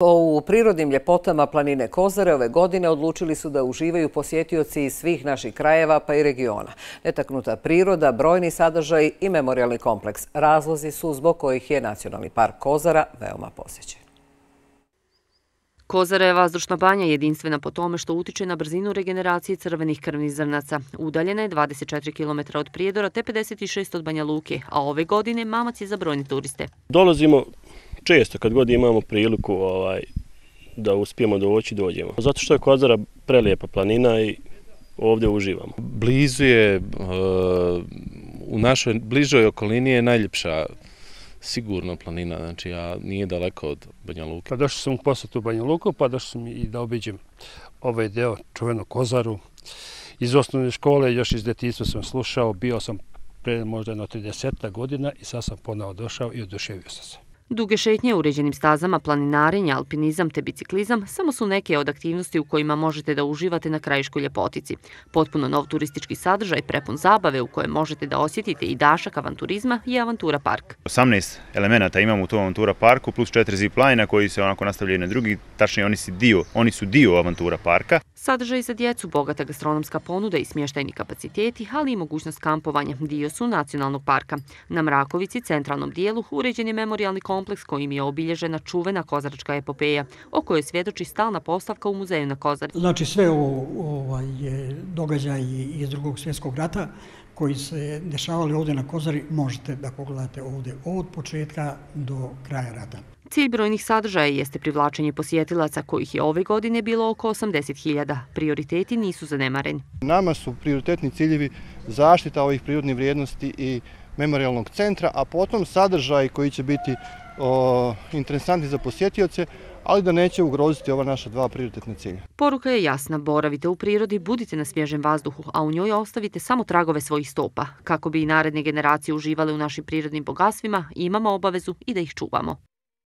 U prirodnim ljepotama planine Kozare ove godine odlučili su da uživaju posjetioci iz svih naših krajeva pa i regiona. Netaknuta priroda, brojni sadržaj i memorijalni kompleks. Razlozi su zbog kojih je Nacionalni park Kozara veoma posjećen. Kozara je vazdušna banja jedinstvena po tome što utiče na brzinu regeneracije crvenih krvnih zrnaca. Udaljena je 24 km od Prijedora te 56 od Banja Luke, a ove godine mamac je za brojne turiste. Dolazimo često kad god imamo priliku da uspijemo dođemo. Zato što je Kozara prelijepa planina i ovdje uživamo. Blizu je, u našoj bližoj okolini je najljepša sigurno planina, znači nije daleko od Banja Luke. Pa došao sam u posjetu u Banja Luku, pa došao sam i da obiđem ovaj deo, čuvenu Kozaru. Iz osnovne škole, još iz djetinjstva sam slušao, bio sam pre možda 30 godina i sad sam ponovo došao i oduševio sam se. Duge šetnje uređenim stazama, planinarenje, alpinizam te biciklizam samo su neke od aktivnosti u kojima možete da uživate na krajiškoj ljepotici. Potpuno nov turistički sadržaj prepun zabave u kojem možete da osjetite i dašak avanturizma je Avantura park. 18 elemenata imamo u tom Avantura parku plus 4 zipline koji se onako nastavljaju na drugi, tačnije oni su dio Avantura parka. Sadržaj za djecu, bogata gastronomska ponuda i smještajni kapaciteti, ali i mogućnost kampovanja dio su Nacionalnog parka. Na Mrakovici, centralnom dijelu, uređen je memorijalni kompleks kojim je obilježena čuvena kozaračka epopeja, o kojoj svjedoči stalna postavka u muzeju na Kozari. Znači sve ovo je događaj iz Drugog svjetskog rata koji se dešavali ovdje na Kozari, možete da pogledate ovdje od početka do kraja rata. Cilj brojnih sadržaja jeste privlačenje posjetilaca kojih je ove godine bilo oko 80.000. Prioriteti nisu zanemareni. Nama su prioritetni ciljevi zaštita ovih prirodnih vrijednosti i memorijalnog centra, a potom sadržaj koji će biti interesantni za posjetioce, ali da neće ugroziti ova naša dva prioritetna cilja. Poruka je jasna, boravite u prirodi, budite na svježem vazduhu, a u njoj ostavite samo tragove svojih stopa. Kako bi i naredne generacije uživale u našim prirodnim bogatstvima, imamo obavezu i da ih čuvamo.